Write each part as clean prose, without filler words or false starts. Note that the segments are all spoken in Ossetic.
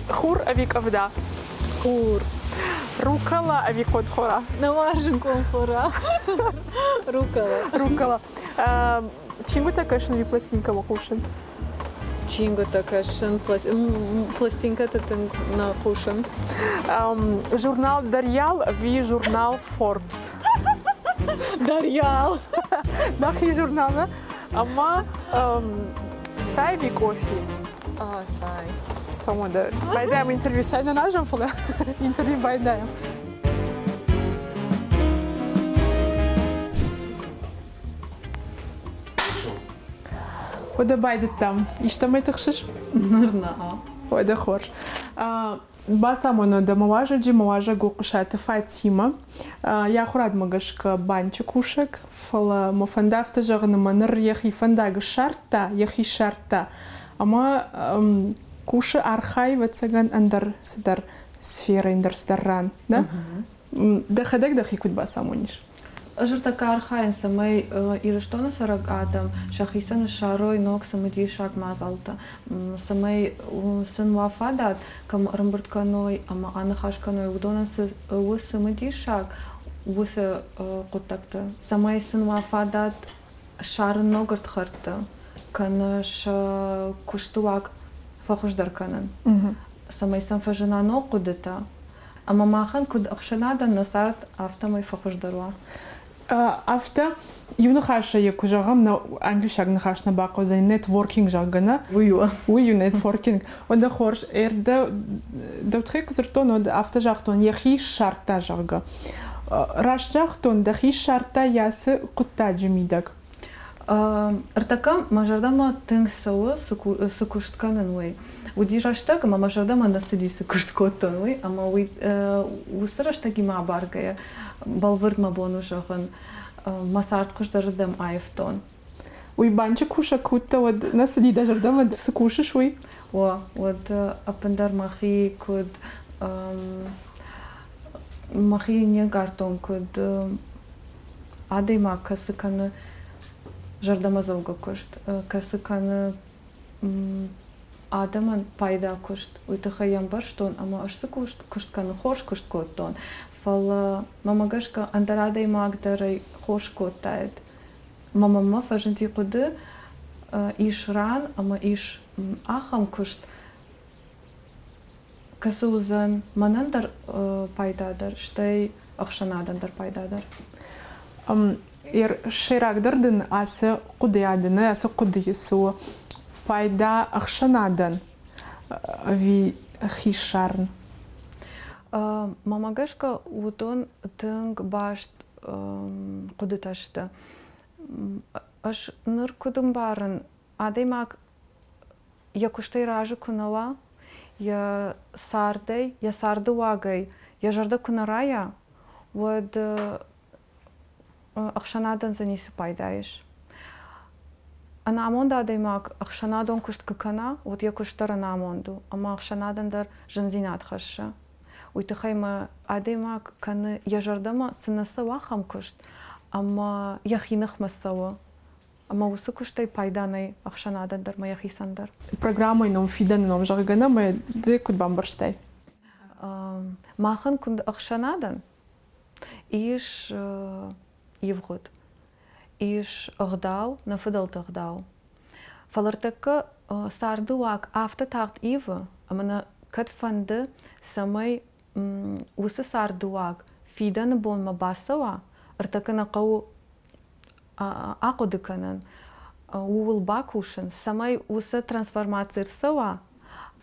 Хур ӕви къӕвда? Хур. Рукола ӕви къонхора? Нӕ уарзын къонхора. Рукола. Рукола. Чингуытӕ кӕсын ӕви пластинкӕмӕ хъусын? Чингуытӕ кӕсын, пластинкӕтӕ тынг нӕ хъусын. Журнал Дарьял ӕви журнал Forbes? Дарьял. Нӕхи журнал, ӕмӕ цай ӕви кофе? Цай. Цӕуӕн Байдайӕм интервью цай нӕ назӕм, фӕлӕ интервью байдайӕм. Уӕдӕ байдыдтам. Истӕмӕй тыхсыс? Ныр нӕ. Уӕдӕ хорз. Бацамонон дӕ мӕ уазӕджы, мӕ уазӕг у Хъуысаты Фатимӕ. Йӕ ахуырадмӕ гӕсгӕ банчы кусӕг, фӕлӕ мӕ фӕнды афтӕ зӕгъын, ӕмӕ ныр йӕхи фӕндаг ссардта, йӕхи ссардта. Ӕмӕ кусы, архайы, ӕвӕццӕгӕн, ӕндӕр цыдӕр сферӕ, ӕндӕр цыдӕр ран. Да? Дӕхӕдӕг дӕхи куыд бацамонис? Ӕз ӕртӕккӕ архайын, цӕмӕй Ирыстоны цӕрӕг адӕм сӕхицӕн ссарой ног цымыдисаг мадзӕлттӕ, цӕмӕй сын уа фадат, кӕм ӕрӕмбырд кӕной ӕмӕ аныхас кӕной, уыдонӕн цы у цымыдисаг, уыцы хъуыддӕгты, цӕмӕй сын уа фадат ссарын ног ӕрдхӕрдтӕ кӕнӕ сӕ куысты уаг фӕхуыздӕр кӕнын, цӕмӕй сӕм фӕзына ног хъуыдытӕ. Ӕмӕ махӕн куыд ӕхсӕнадӕн нӕ цард афтӕмӕй фӕхуыздӕр уа. Афтӕ, иу ныхасӕй куы зӕгъӕм, нӕ англисаг ныхас нӕ бахъӕудзӕн нетворкинг, зӕгъгӕ, нӕ? Уый у. Уый у нетворкинг. Уӕдӕ хорз, ӕрдӕ дӕу тыххӕй куы дзырдтон, уӕд афтӕ загътон, йӕхи ссардта, зӕгъгӕ. Раст загътон, дӕхи ссардта йӕ цы хъуыддаджы мидӕг? Ӕртӕккӕ мӕ зӕрдӕмӕ тынг цӕуы, цы куыст кӕнын, уый. Уыди рӕстӕг, ӕмӕ мӕ зӕрдӕмӕ нӕ цыди, цы куыст кодтон, уый. Ӕмӕ уый уыцы рӕстӕгимӕ абаргӕйӕ, бӕлвырд мӕ бон у зӕгъын, мӕ цард хуыздӕрырдӕм аивтон. Уый банчы кусӕг куы уыдтӕ, уӕд нӕ цыди дӕ зӕрдӕмӕ, цы кусыс, уый? О, уӕд ӕппындӕр мӕхи куыд мӕхи не нкъардтон, куыд адӕймаг кӕцы кӕны зӕрдӕмӕдзӕугӕ куыст, кӕцы кӕны адӕмӕн пайда куыст, уый тыххӕй йӕ ӕмбӕрстон ӕмӕ ӕз цы куыст кӕнын, хорз куыст кодтон, фӕлӕ мӕмӕ гӕсгӕ ӕндӕр адӕймаг дӕр ӕй хорз кодтаид. Мӕ мӕнмӕ фӕзынди хъуыды, ис ран ӕмӕ ис ахӕм куыст, кӕцы уыдзӕн мӕнӕн дӕр пайдадӕр, стӕй ӕхсӕнадӕн дӕр пайдадӕр. Сӕйрагдӕр дын ацы хъуыдыйады, нӕ ацы хъуыдыйы цы у пайда ӕхсӕнадӕн ӕви хи ссарын? Мӕнмӕ гӕсгӕ, уыдон тынг баст хъуыдытӕ сты. Ӕз ныр куыд ӕмбарын, адӕймаг йӕ куыстӕй разы куы нӕ уа, йӕ цардӕй, йӕ царды уагӕй йӕ зӕрдӕ куы нӕ райа, уӕд ӕхсӕнадӕн дзы ницы пайда ис. Ӕнамонд адӕймаг ӕхсӕнадон куыст куы кӕна, уӕд йӕ куыст дӕр ӕнамонд у, ӕмӕ ӕхсӕнадӕн дӕр зындзинад хӕссы. Уый тыххӕй мӕ адӕймаг кӕны йӕ зӕрдӕмӕ цы нӕ цӕуы, ахӕм куыст, ӕмӕ йӕхи ныхмӕ цӕуы. Ӕмӕ уыцы куыстӕй пайда нӕй ӕхсӕнадӕн дӕр ӕмӕ йӕхицӕн дӕр. Программӕйы ном фидӕны ном, зӕгъгӕ, нӕ мӕ ды куыд бамбӕрстай? Махӕн куыд ӕхсӕнадӕн ис ивгъуыд, ис ӕгъдау, нӕ фыдӕлты ӕгъдау. Фӕлӕ ӕртӕккӕ царды уаг афтӕ тагъд ивы, ӕмӕ нӕ кӕд фӕнды, цӕмӕй уыцы царды уаг фидӕны бонмӕ бацӕуа, ӕртӕккӕ нӕ хъӕуы ахъуыды кӕнын, ууыл бакусын, цӕмӕй уыцы трансформаци ӕрцӕуа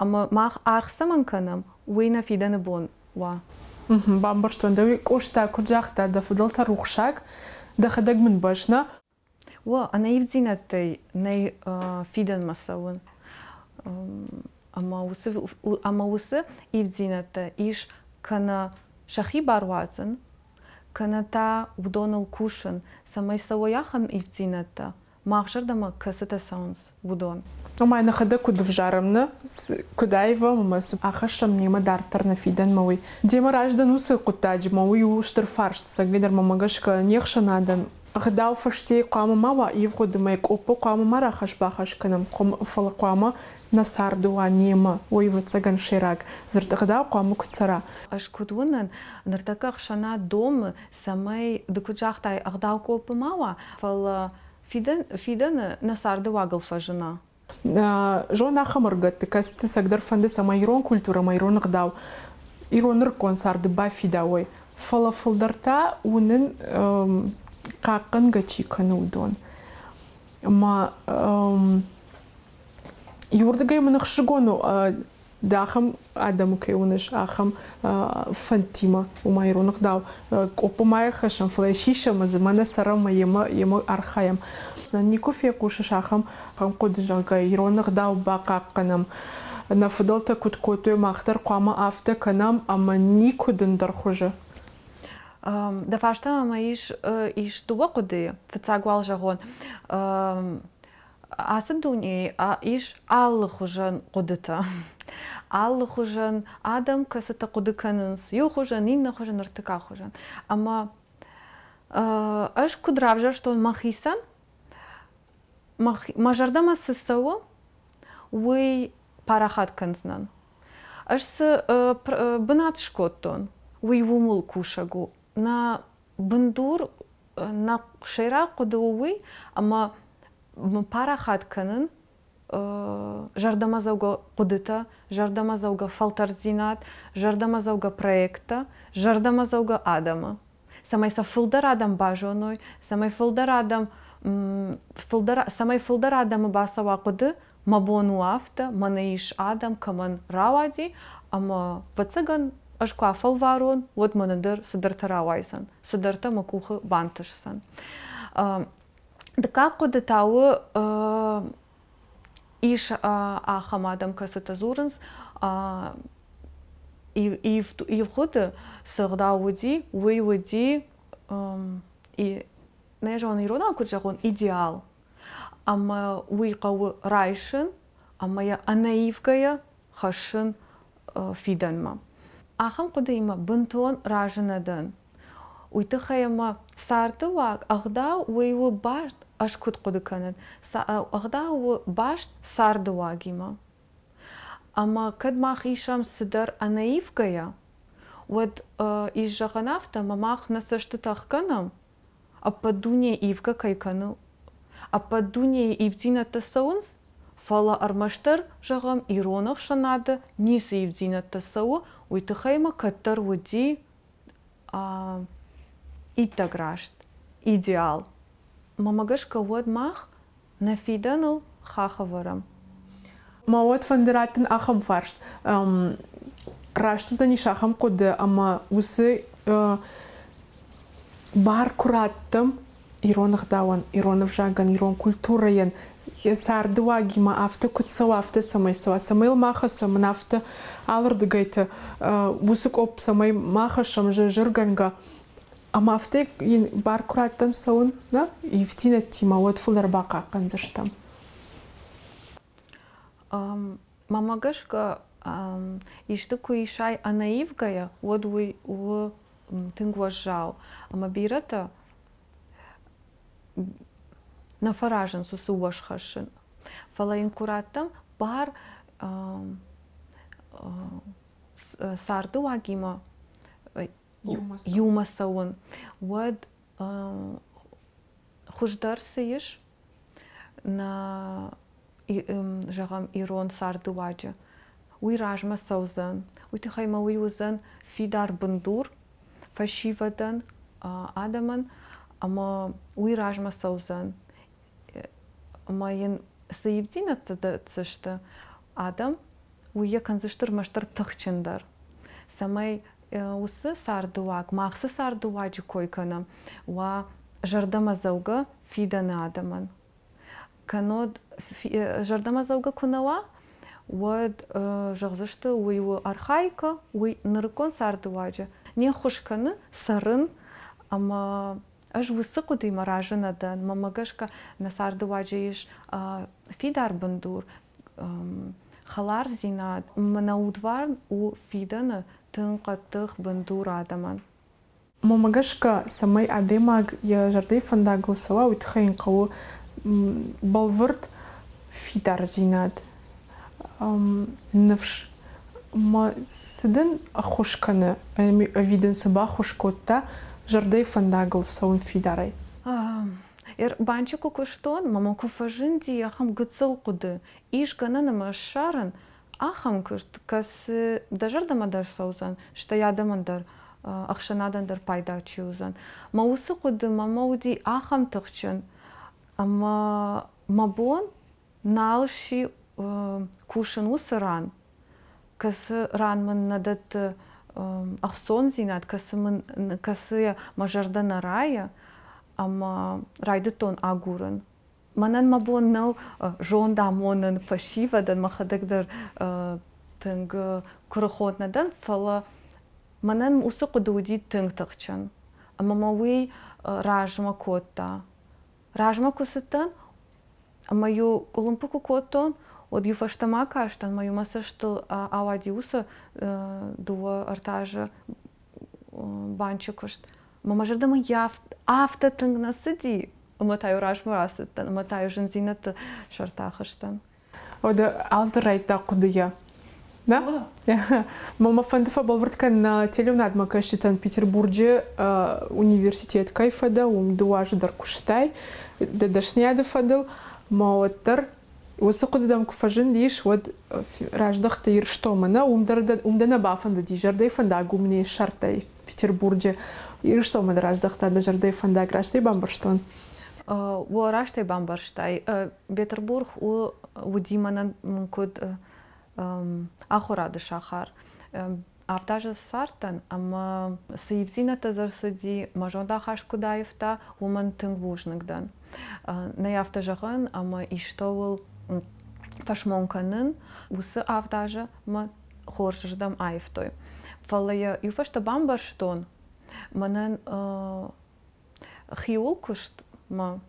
ӕмӕ мах аргъ цӕмӕн кӕнӕм, уый нӕ фидӕны бон уа. Бамбӕрстон дӕ, уый Къоста куыд загъта, дӕ фыдӕлтӕ рухсаг, дӕхӕдӕг мын бӕсна. О, ӕнӕивддзинӕдтӕй нӕй фидӕнмӕ цӕуын. Ӕмӕ уыцы ивддзинӕдтӕ ис кӕнӕ сӕхи бар уадзын, кӕнӕ та уыдоныл кусын, цӕмӕй цӕуой ахӕм ивддзинӕдтӕ, мах зӕрдӕмӕ кӕцытӕ цӕуынц, уыдон. Ома нӕхӕдӕг куыд ӕвзарӕм, нӕ куыд аивӕм ӕмӕ цы ахӕссӕм немӕ дарддӕр нӕ фидӕнмӕ, уый. Демӕ раздӕн уыцы хъуыддаджы ма уый у стыр фарст, цӕгӕйдӕр мӕмӕ гӕсгӕ не хсӕнадӕн ӕгъдау фӕстейы хъуамӕ ма уа ивгъуыд ӕмӕ къоппы хъуамӕ ма рахӕсс-бахӕсс кӕнӕм, фӕлӕ хъуамӕ Нӕ царды уа немӕ, уый, ӕвӕццӕгӕн, сӕйраг дзырд ӕгъдау хъуамӕ куыд цӕра. Ӕз куыд уынын, ныртӕккӕ ӕхсӕнад домы, цӕмӕй, ды куыд загътай, ӕгъдау къоппы ма уа, фӕлӕ фидӕны нӕ царды уагыл фӕзына. Зон ахӕм ӕрыгӕтты, кӕцыты цӕгдӕр фӕнды, цӕмӕй ирон культурӕ ӕмӕ ирон ӕгъдау ирон нырыккон царды бафидауой. Фӕлӕ фылдӕр та уынын хъахъхъӕнгӕ чи кӕны, уыдон. Ӕмӕ иуырдыгӕй мын ӕхсызгон у, ды ахӕм адӕмы кӕй уыныс, ахӕм фӕндтимӕ, уымӕ ирон ӕгъдау къоппы ма ӕрхӕссӕм, фӕлӕ сисӕм дзы, мӕнӕ цӕрӕм ӕмӕ йемӕ архайӕм. Никуы фехъусыс ахӕм хъуыды, зӕгъгӕ, ирон ӕгъдау бахъахъхъӕнӕм. Нӕ фыдӕлтӕ куыд кодтой, мах дӕр хъуамӕ афтӕ кӕнӕм ӕмӕ никуы дын дӕр хуызы. Дӕ фарстамӕ мӕ ис дыууӕ хъуыдыйы. Фыццаг уал зӕгъон, ацы дунейы ис алыхуызӕн хъуыдытӕ. Алыхуызӕн адӕм, кӕцытӕ хъуыды кӕнынц иу хуызӕн, иннӕ хуызӕн, ӕртыккаг хуызӕн. Ӕмӕ ӕз куыд равзӕрстон мӕхицӕн, мӕ зӕрдӕмӕ цы цӕуы, уый парахат кӕндзынӕн. Ӕз цы бынат скодтон, уый ууыл кусӕг у. Нӕ бындур, нӕ сӕйраг хъуыды у уый, ӕмӕ парахат кӕнын зӕрдӕмӕдзӕугӕ хъуыдытӕ, зӕрдӕмӕдзӕугӕ фӕлтӕрддзинад, зӕрдӕмӕдзӕугӕ проекттӕ, зӕрдӕмӕдзӕугӕ адӕмы. Цӕмӕй сӕ фылдӕр адӕм базоной, цӕмӕй фылдӕр адӕм фылдӕр, цӕмӕй фылдӕр адӕмы бацӕуа хъуыды, мӕ бон у афтӕ, мӕнӕ ис адӕм, кӕмӕн рауади, ӕмӕ, ӕвӕццӕгӕн, ӕз куы афӕлварон, уӕд мӕнӕн дӕр цыдӕртӕ рауайдзӕн, цыдӕртӕ мӕ къухы бантысдзӕн. Дыккаг хъуыды та у, ис ахӕм адӕм, кӕцытӕ дзурынц, ивгъуыды цы ӕгъдау уыди, уый уыди, нӕ зонын, иронау куыд зӕгъон, идеал. Ӕмӕ уый хъӕуы райсын ӕмӕ йӕ ӕнӕивгӕйӕ хӕссын фидӕнмӕ. Ахӕм хъуыдыимӕ бынтон разы нӕ дӕн. Уый тыххӕй ӕмӕ царды уаг, ӕгъдау уый у баст, ӕз куыд хъуыды кӕнын, ӕгъдау у баст царды уагимӕ. Ӕмӕ кӕд мах исӕм цыдӕр ӕнӕивгӕйӕ, уӕд ис зӕгъӕн афтӕ, ӕмӕ мах нӕ цӕстытӕ ӕхгӕнӕм, ӕппӕт дуне ивгӕ кӕй кӕны, ӕппӕт дунейы ивддзинӕдтӕ цӕуынц, фӕлӕ ӕрмӕстдӕр, зӕгъӕм, ирон ӕхсӕнады ницы ивддзинӕдтӕ цӕуы, уый тыххӕй ма кӕддӕр уыди иттӕг раст идеал. Мӕмӕ гӕсгӕ, уӕд мах нӕ фидӕныл хахх ӕвӕрӕм. Мӕ уӕд фӕнды раттын ахӕм фарст. Раст уыдзӕнис ахӕм хъуыды, ӕмӕ уыцы бар куы раттӕм ирон ӕгъдауӕн, ирон ӕвзагӕн, ирон культурӕйӕн, йӕ царды уагимӕ афтӕ куыд цӕуа, афтӕ цӕмӕй цӕуа, цӕмӕй йыл ма хӕссӕм, мын афтӕ алырдыгӕйты уыцы къопп цӕмӕй ма хӕссӕм зыргӕнгӕ, ӕмӕ афтӕ йын бар куы раттӕм цӕуын, нӕ ивддзинӕдтимӕ, уӕд фылдӕр бахъахъхъӕндзыстӕм. Мӕнмӕ гӕсгӕ, исты куы исай ӕнӕивгӕйӕ, уӕд уый у тынг уӕззау. Ӕмӕ бирӕтӕ нӕ фӕразынц уыцы уӕз хӕссын. Фӕлӕ йын куы раттӕм бар царды уагимӕ иумӕ цӕуын, уӕд хуыздӕр цы ис нӕ, зӕгъӕм, ирон цардыуаджы, уый размӕ цӕудзӕн. Уый тыххӕй ма уый уыдзӕн фидар бындур фӕсивӕдӕн, адӕмӕн, ӕмӕ уый размӕ цӕудзӕн. Ӕмӕ йын цы ивддзинӕдтӕ дӕтдзысты адӕм, уый йӕ кӕндзысты ӕрмӕстдӕр тыхджындӕр, цӕмӕй уыцы цардыуаг, мах цы цардыуаджы кой кӕнӕм, уа зӕрдӕмӕдзӕугӕ фидӕны адӕмӕн. Кӕннод зӕрдӕмӕдзӕугӕ куы нӕ уа, уӕд зӕгъдзысты, уый у архаикӕ, уый нырыккон цардыуаджы не ххуыс кӕны цӕрын ӕмӕ ӕз уыцы хъуыдыимӕ разы нӕ дӕн. Мӕнмӕ гӕсгӕ, нӕ цардыуаджы ис фидар бындур, хӕлардзинад. Мӕнӕ удварн у фидӕны тынг хъӕддых бындур адӕмӕн. Мӕнмӕ гӕсгӕ, цӕмӕй адӕймаг йӕ зӕрдӕйы фӕндагыл цӕуа, уый тыххӕй йын хъӕуы бӕлвырд фидардзинад. Ныфс. Ма цы дын ӕххуыс кӕны ӕви дын цы баххуыс кодта зӕрдӕйы фӕндагыл цӕуын фидарӕй? Банчы куы куыстон, мӕ куы фӕзынди ахӕм гыццыл хъуыды, ис гӕнӕн ӕмӕ ссарын ахӕм куыст, кӕцы дӕ зӕрдӕмӕ дӕр цӕудзӕн, стӕй адӕмӕн дӕр, ӕхсӕнадӕн дӕр пайда чи уыдзӕн. Мӕ уыцы хъуыды мӕ уыди ахӕм тыхджын, ӕмӕ мӕ бон нал сси кусын уыцы ран, кӕцы ран мын нӕ дӕтты ӕхцондзинад, кӕцы мын кӕцыйӕ мӕ зӕрдӕ нӕ райы, ӕмӕ райдыдтон агурын. Мӕнӕн мӕ бон нӕу зонд амонын фӕсивӕдӕн, мӕхӕдӕг дӕр тынг куырыхон нӕ дӕн, фӕлӕ мӕнӕн уыцы хъуыды уыди тынг тыхджын. Ӕмӕ мӕ уый размӕ кодта. Размӕ куы цыдтӕн, ӕмӕ-иу къуылымпы куы кодтон, уӕд-иу фӕстӕмӕ кастӕн, ӕмӕ-иу мӕ цӕстыл ауади уыцы дыууӕ-ӕртӕ азы банчы куыст. Ӕмӕ мӕ зӕрдӕмӕ афтӕ тынг нӕ цыди, ӕмӕ та-иу размӕ рацыдтӕн, ӕмӕ та-иу зындзинӕдты сӕрты ахызтӕн. Уӕдӕ алцыдӕр райдыдта хъуыдыйӕ. Да? Мӕ фӕнды фӕбӕлвырд кӕнын телеуынадмӕ кӕсджытӕн Петербурджы университет кӕй фӕдӕ, уым дыууӕ азы дӕр куыстай дӕ дӕсныйады фӕдыл, мӕ уӕддӕр уыцы хъуыды дӕм куы фӕзындис, уӕд раздӕхтӕ Ирыстонмӕ, нӕ, уым дӕр уым дӕ нӕ бафӕндыди, зӕрдӕйы фӕндаг уым не ссардтай Петербурджы. Ирыстонмӕ дӕ раздӕхта дӕ зӕрдӕйы фӕндаг, раст ӕй бамбӕрстон? О, раст ӕй бамбӕрстай. Петербург у уыди мӕнӕн куыд ахуырады сахар. Авд азы цардтӕн ӕмӕ цы ивдзинӕдтӕ дзы ӕрцыди, мӕ зондахаст куыд аивта, уымӕн тынг бузныг дӕн. Нӕй афтӕ зӕгъӕн, ӕмӕ истӕуыл фӕсмон кӕнын, уыцы авд азы мӕ хорзырдӕм аивтой. Фӕлӕ йӕ иу фӕстӕ бамбӕрстон, мӕнӕн хиуыл куыстмӕ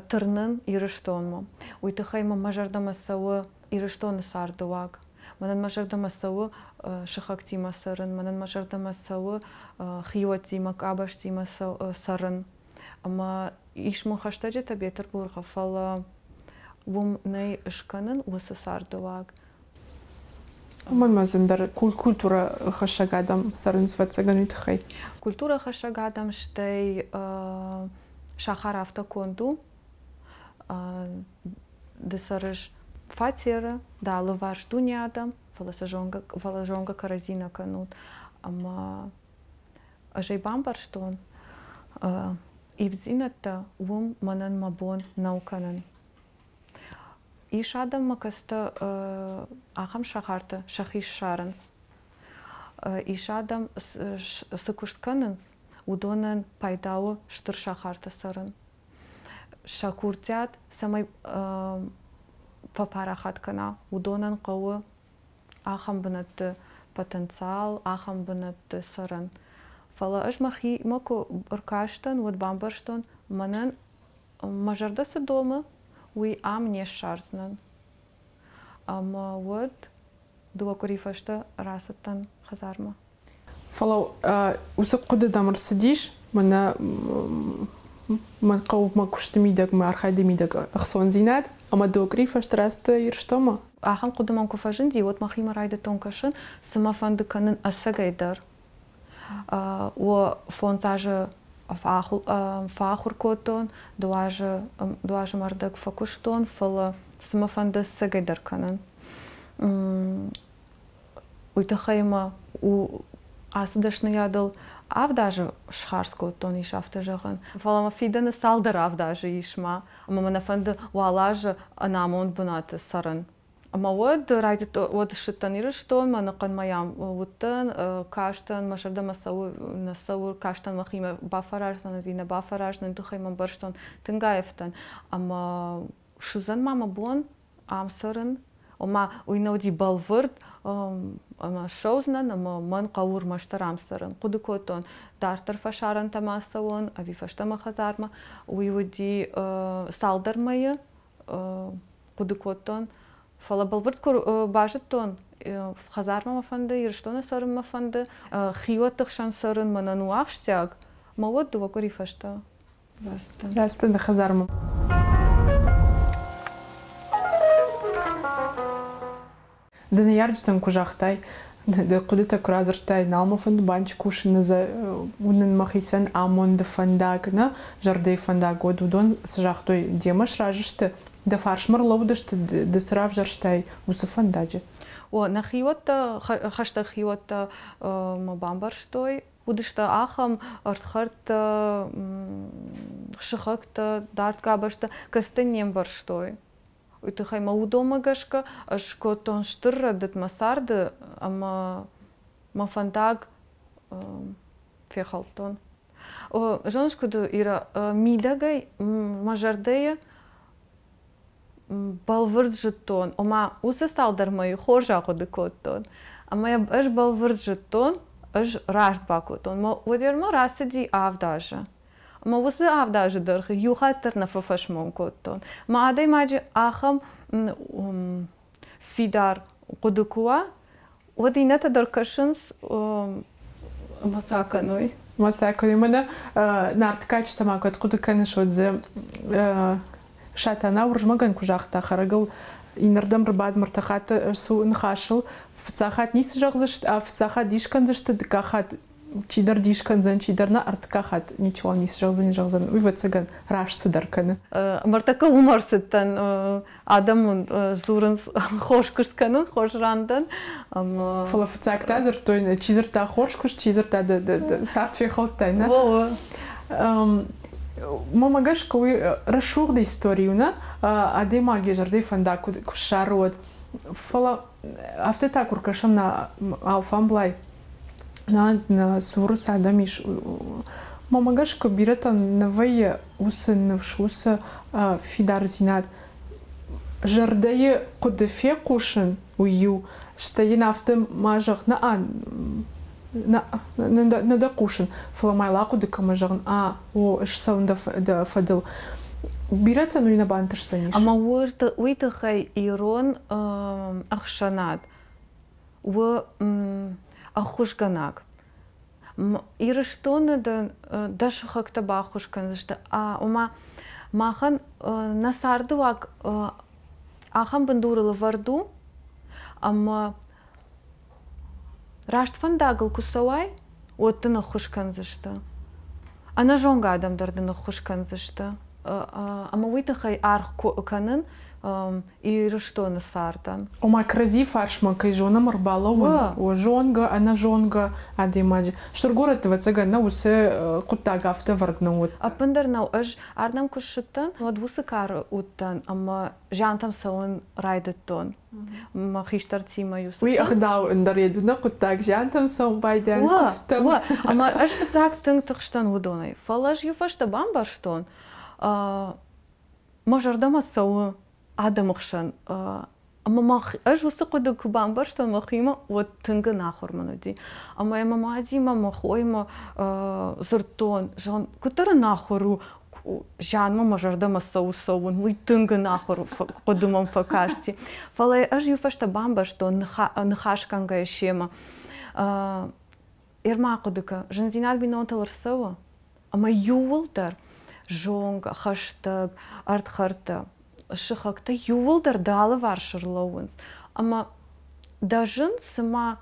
тырнын Ирыстонмӕ. Уый тыххӕй мӕ мӕ зӕрдӕмӕ цӕуы Ирыстоны царды уаг. Мӕнӕн мӕ зӕрдӕмӕ цӕуы сыхӕгтимӕ цӕрын, мӕнӕн мӕ зӕрдӕмӕ цӕуы хиуӕттимӕ, къабӕзтимӕ цӕрын. Ӕмӕ ис мын хӕстӕджытӕ Бетъырбухы, фӕлӕ уым нӕй скӕнын уыцы царды уаг. Уымӕн ма зындӕр культурӕ хӕссӕг адӕм цӕрынц, ӕвӕццӕгӕн, уый тыххӕй. Культурӕ хӕссӕг адӕм, стӕй сахар афтӕ конд у, ды цӕрыс фатеры, дӕ алыварс дуне адӕм, фӕлӕ сӕ зонгӕ, фӕлӕ зонгӕ кӕрӕдзи нӕ кӕнут. Ӕмӕ ӕз ӕй бамбӕрстон, ивддзинӕдтӕ уым мӕнӕн мӕ бон нӕу кӕнын. Ис адӕммӕ кӕцытӕ ахӕм сахарты сӕхи ссарынц. Ис адӕм цы куыст кӕнынц, уыдонӕн пайда у стыр сахарты цӕрын. Сӕ курдиат цӕмӕй фӕпарахат кӕна, уыдонӕн хъӕуы ахӕм бынӕтты потенциал, ахӕм бынӕтты цӕрын. Фӕлӕ ӕз мӕхимӕ куы ӕркастӕн, уӕд бамбӕрстон, мӕнӕн мӕ зӕрдӕ цы домы, уый ам не ссардзынӕн. Ӕмӕ уӕд дыууӕ къуыри фӕстӕ рацыдтӕн хӕдзармӕ. Фӕлӕ уыцы хъуыды дӕм ӕрцыдис, мӕнӕ мӕн хъӕуы мӕ куысты мидӕг, мӕ архайды мидӕг ӕхцондзинад, ӕмӕ дыууӕ къуыри фӕстӕ рацыдтӕ Ирыстонмӕ? Ахӕм хъуыды мӕм куы фӕзынди, уӕд мӕхимӕ райдыдтон кӕсын, цы мӕ фӕнды кӕнын ӕцӕгӕй дӕр. О, фондз азы фӕахуыр кодтон, дыууӕ азы мӕрдӕг фӕкуыстон, фӕлӕ цы мӕ фӕнды ӕцӕгӕй дӕр кӕнын. Уый тыххӕй мӕ ацы дӕсныйадыл авд азы схардз кодтон, ис афтӕ зӕгъӕн. Фӕлӕ мӕ фидӕны цалдӕр авд азы ис ма, ӕмӕ мӕ нӕ фӕнды уал азы ӕнамонд бынаты цӕрын. Ӕмӕ уӕд райдыдтон, уӕд ссыдтӕн Ирыстонмӕ, ӕнӕхъӕн мӕйӕ уыдтӕн, кастӕн, мӕ зӕрдӕмӕ цӕуы, нӕ цӕуы, кастӕн мӕхимӕ бафӕраздзӕн ӕви нӕ бафӕраздзӕн, тыххӕй мӕ ӕмбӕрстон, тынг аивтӕн. Ӕмӕ суыдзӕн ма мӕ бон ам цӕрын, ома уый нӕ уыди бӕлвырд, ӕмӕ ссӕудзынӕн ӕмӕ мӕн хъӕуы ӕрмӕстдӕр ам цӕрын. Хъуыды кодтон, дарддӕр фӕсарӕнтӕм ацӕуон ӕви фӕстӕмӕ хӕдзармӕ. Уый уыди цалдӕр мӕйы хъуыды кодтон. Фӕлӕ бӕлвырд куы базыдтон, хӕдзармӕ мӕ фӕнды, Ирыстоны цӕрын мӕ фӕнды, хиуӕтты хсӕн цӕрын мӕнӕн у ахсджиаг, мӕ уӕд дыууӕ къуыри фӕстӕ рацыдтӕн. Рацыдтӕн дӕ хӕдзармӕ. Ды ныййарджытӕн куы загътай, дӕ хъуыдытӕ куы радзырдтай, нал мӕ фӕнды банчы кусыны уынын мӕхицӕн амонды фӕндаг, нӕ зӕрдӕйы фӕндаг, уӕд уыдон цы загътой, демӕ сразы сты, дӕ фарсмӕ рлӕууыдысты, ды цы равзӕрстай, уыцы фӕндаджы? О, нӕ хиуӕттӕ, хӕстӕг хиуӕттӕ мӕ бамбӕрстой. Уыдысты ахӕм ӕрдхӕрдтӕ, сыхӕгтӕ, дард къабӕзтӕ, кӕцытӕ не мбӕрстой. Уый тыххӕй мӕ уыдонмӕ гӕсгӕ ӕз скодтон стыр рӕдыд мӕ царды ӕмӕ мӕ фӕндаг фехӕлдтон. Зоныс, куыд у, Ира, мидӕгӕй мӕ зӕрдӕйы бӕлвырд зыдтон, ома уыцы цалдӕр мӕйы хорз ахъуыды кодтон. Ӕмӕ йӕ ӕз бӕлвырд зыдтон, ӕз раст бакодтон. Мӕ уӕдӕрмӕ рацыди 7 азы. Ӕмӕ уыцы 7 азы дӕргъы иу хатт дӕр нӕ фӕфӕсмон кодтон. Мӕ адӕймаджы ахӕм фидар хъуыды куы уа, уӕд иннӕтӕ дӕр кӕсынц ӕмӕ сӕ кӕной. Ма сӕ кӕной. Мӕнӕ Нарты кадджытӕ ма кӕд хъуыды кӕныс, уӕд дзы Сатана Уырызмӕгӕн куы загъта, хӕрӕгыл иннӕрдӕм ӕрбад ӕртӕ хатты ӕрцу ныхасыл, фыццаг хатт ницы зӕгъдзысты, а фыццаг хатт дис кӕндзысты, дыккаг хатт чидӕр дис кӕндзӕн, чидӕр нӕ, ӕртыккаг хатт ничиуал ницы зӕгъдзӕни, зӕгъдзӕн, уый, ӕвӕццӕгӕн, раст цыдӕр кӕны. Мӕртӕккӕ уым ӕрцыдтӕн. Адӕм дзурынц, хорз куыст кӕнын, хорз ран дӕн. Фӕлӕ фыццаг та дзырдтой, чи дзырдта хорз куыст, чи дзырдта цард фехӕлдтай, нӕ? Мӕмӕ гӕсгӕ уый рӕсугъд истори у, нӕ? Адӕймаг йӕ зӕрдӕйы фӕндаг куы ссары, уӕд. Фӕлӕ афтӕ та куы ркӕсӕм нӕ алфамблай, нӕ цуры цы адӕм ис, мӕмӕ гӕсгӕ бирӕтӕм нӕ вӕййы уыцы ныфс, уыцы фидардзинад. Зӕрдӕйы хъуыды фехъусын, уый иу, стӕй йын афтӕ ма зӕгъ, нӕ, нӕ дӕ хъусын, фӕлӕ ма йыл ахъуыды кӕмӕ зӕгъын, а, о, ӕз цӕуын дӕ фӕдыл. Бирӕтӕн уый нӕ бантысдзӕнис. Ӕмӕ уый тыххӕй ирон ӕхсӕнад у ӕххуысгӕнӕг. Ирыстоны дӕ сыхӕгтӕ баххуыс кӕндзысты, ома махӕн нӕ цардыуаг ахӕм бындурыл ӕвӕрд у, ӕмӕ раст фӕндагыл куы цӕуай, уӕд дын ӕххуыс кӕндзысты. Ӕнӕзонгӕ адӕм дӕр дын ӕххуыс кӕндзысты. Ӕмӕ уый тыххӕй аргъ кӕнын Ирыстоны цардӕн. Ома кӕрӕдзи фарсмӕ кӕй зонӕм ӕрбалӕууын, о зонгӕ, ӕнӕзонгӕ адӕймаджы. Стыр горӕтты, ӕвӕццӕгӕн, нӕ уыцы хъуыддаг афтӕ ӕвӕрд нӕ уыд. Ӕппындӕр нӕу. Ӕз ардӕм куы ссыдтӕн, уӕд уыцы кары уыдтӕн ӕмӕ зиантӕм цӕуын райдыдтон. Мӕ хистӕртимӕ-иу Уый ӕгъдау ӕндӕр йед нӕ хъуыддаг зиантӕм цӕуын байдайӕн куывдтӕм. Ӕмӕ ӕз фыццаг тынг тыхстӕн уыдонӕй. Фӕлӕ ӕз иу фӕстӕ бамбӕрстон, мӕ зӕрдӕмӕ цӕуы адӕмы хсӕн. Ӕмӕ мах ӕз уыцы хъуыды куы бамбӕрстон мӕхимӕ, уӕд тынг ӕнахуыр мын уыди. Ӕмӕ мӕ мадимӕ, мӕ хоимӕ дзырдтон, зӕгъын, куыддӕр ӕнахуыр у, зианмӕ мӕ зӕрдӕмӕ цӕуы цӕуын, уый тынг ӕнахуыр хъуыды мӕм фӕкасти. Фӕлӕ ӕз иу фӕстӕ бамбӕрстон ныхасгӕнгӕйӕ семӕ. Ӕрма ахъуыды кӕн, зындзинад бинонтыл ӕрцӕуы, ӕмӕ иууылдӕр зонгӕ, хӕстӕг, ӕрдхӕрдтӕ, сыхӕгтӕ иууылдӕр дӕ алыварс ӕрлӕууынц. Ӕмӕ дӕ зын цыма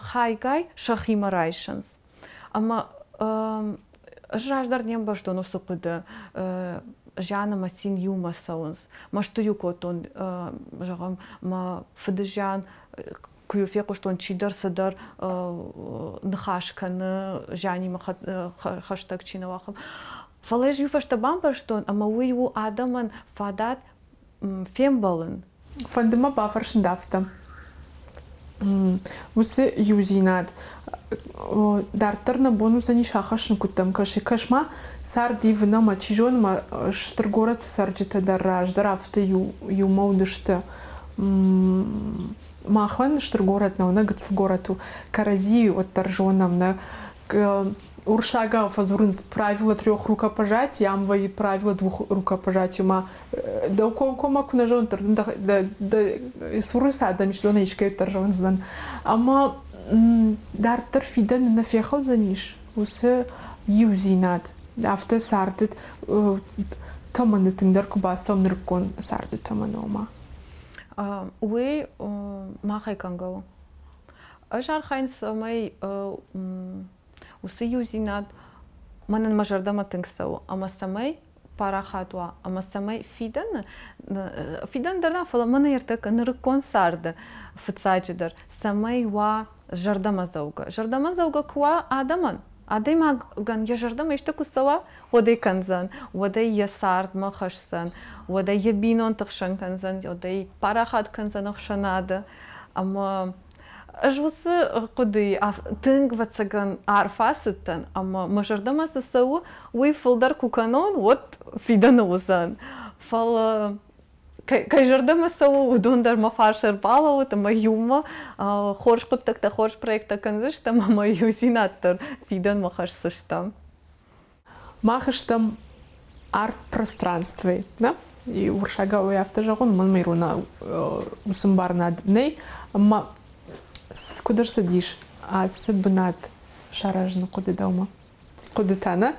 хайгай сӕхимӕ райсынц. Ӕмӕ ӕз раздӕр не мбӕрстон уыцы хъуыды, зиан ӕмӕ цин иумӕ цӕуынц. Мӕсты-иу кодтон, зӕгъӕм, мӕ фыды зиан куы-иу фехъуыстон, чидӕр цыдӕр ныхас кӕны, зианимӕ хӕстӕг чи нӕ уа, Фӕлӕ ӕз иу фӕстӕ бамбӕрстон, ӕмӕ уый у адӕмӕн фадат фембӕлын. Фӕнды мӕ бафӕрсын дӕ афтӕ. Уыцы иудзинад дарддӕр нӕ бон уыдзӕнис ахӕссын куыддӕм кӕсы. Кӕс-ма, цард ивын ӕмӕ, чи зоны, ма стыр горӕты цӕрджытӕ дӕр раздӕр афтӕ иумӕ уыдысты. Махӕн стыр горӕт нӕу, нӕ гыццыл горӕт у. Кӕрӕдзийы уӕддӕр зонӕм, нӕ уырыссагау фӕдзурынц правило трех рукопожатий, ам вӕййы правило двух рукопожатий, ма дӕу комкоммӕ куы нӕ зонын, дӕ цуры цы адӕм ис, уыдонӕй искӕй дӕр зондзынӕн. Ӕмӕ дарддӕр фидӕны нӕ фехӕлдзӕнис уыцы иудзинад. Афтӕ царды тӕмӕны тынгдӕр куы бацӕуӕм нырыккон царды тӕмӕны, ома. Уый махӕй кӕнгӕ у. Ӕз архайын, цӕмӕй уыцы иудзинад мӕнӕн мӕ зӕрдӕмӕ тынг цӕуы ӕмӕ цӕмӕй парахат уа ӕмӕ цӕмӕй фидӕны, фидӕн дӕр нӕ, фӕлӕ мӕнӕ ӕртӕккӕ нырыккон царды фыццаджыдӕр, цӕмӕй уа зӕрдӕмӕдзӕугӕ. Зӕрдӕмӕдзӕугӕ куы уа адӕмӕн, адӕймагӕн йӕ зӕрдӕмӕ исты куы цӕуа, уӕд ӕй кӕндзӕн, уӕд ӕй йӕ цардмӕ хӕсдзӕн, уӕд ӕй йӕ бинонты хсӕн кӕндзӕн, уӕд ӕй парахат кӕндзӕн ӕхсӕнады. Ӕмӕ ӕз уыцы хъуыдыйы тынг, ӕвӕццӕгӕн, арф ацыдтӕн, ӕмӕ мӕ зӕрдӕмӕ цы цӕуы, уый фылдӕр куы кӕнон, уӕд фидӕны уыдзӕн. Фӕлӕ кӕй зӕрдӕмӕ цӕуы, уыдон дӕр мӕ фарс ӕрбалӕууыд ӕмӕ иумӕ хорз хъуыддӕгтӕ, хорз проекттӕ кӕндзыстӕм ӕмӕ иудзинад дӕр фидӕнмӕ хӕсдзыстӕм. Мах стӕм арт-пространствойы, да? И уырыссагау афтӕ зӕгъон, мӕнмӕ иронау уыцы ӕмбарынад нӕй. Ӕмӕ куыд ӕрцыдис ацы бынат саразыны хъуыды дӕумӕ? Хъуыдытӕ, нӕ?